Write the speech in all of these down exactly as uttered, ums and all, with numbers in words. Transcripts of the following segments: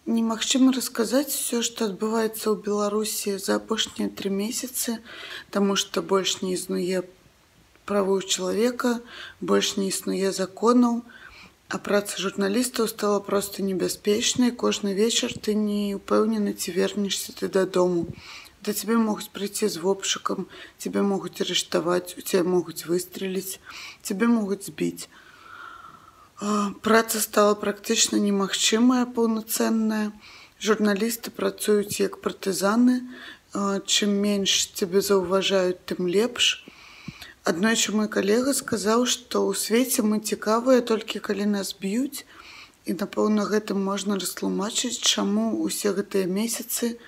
Немагчыма расказаць усё, што адбываецца ў Беларусі за апошнія тры месяцы, таму што больш не існуе правоў чалавека, больш не існуе законаў, а праца журналістаў стала проста небяспечнай. Кожны вечар ты не ўпэўнены, ці вернешся ты дадому. Да цябе могуць прыйсці з вобшукам, цябе могуць арыштаваць, у цябе могуць выстреліць, цябе могуць збіць. Праца стала практычна немагчымая, паўнацэнная. Журналісты працуюць як партызаны. Чым менш цябе заўважаюць, тым лепш. Аднойчы мой калега сказаў, што ў свеце мы цікавыя толькі калі нас б'юць. І, напэўна, гэтым можна растлумачыць, чаму ўсе гэтыя месяцы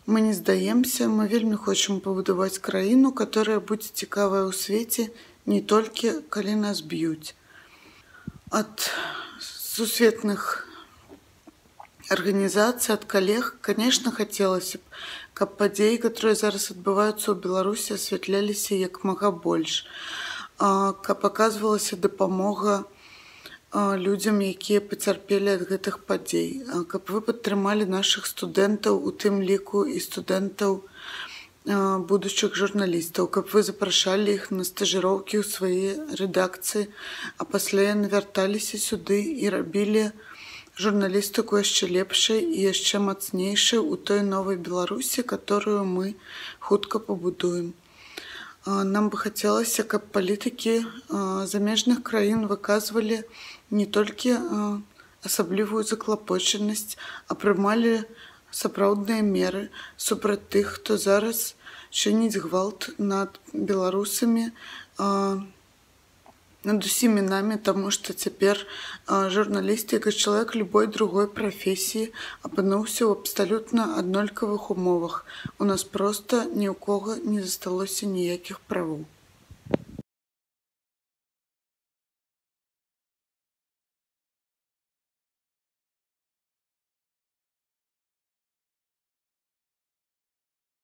мы не здаемся. Мы вельмі хочам пабудаваць краіну, которая будзе цікавая ў свеце не толькі калі нас б'юць. Ад сусветных арганізацый, ад калег, конечно, хацелася б, каб падзеі, которые зараз адбываюцца ў Беларусі, асвятляліся як мага больш, каб аказвалася дапамога людзям, якія пацярпелі ад гэтых падзей, каб вы падтрымалі нашых студэнтаў, у тым ліку і студэнтаў будучых журналістаў, каб вы запрашалі іх на стажыроўкі ў свае рэдакцыі, а пасля яны вярталіся сюды і рабілі журналістыку яшчэ лепшай і яшчэ мацнейшай у той новай Беларусі, которую мы хутка пабудуем. Нам бы хацелася, каб палітыкі замежных краін выказвалі не толькі асаблівую заклапочанасць, а прымалі сапраўдныя меры супраць тых, хто зараз чыніць гвалт над беларусамі, над усімі намі, таму што цяпер журналіст, як і чалавек любой другой прафесіі, апынуўся ў абсалютна аднолькавых умовах. У нас проста ні ў кога не засталося ніякіх правоў.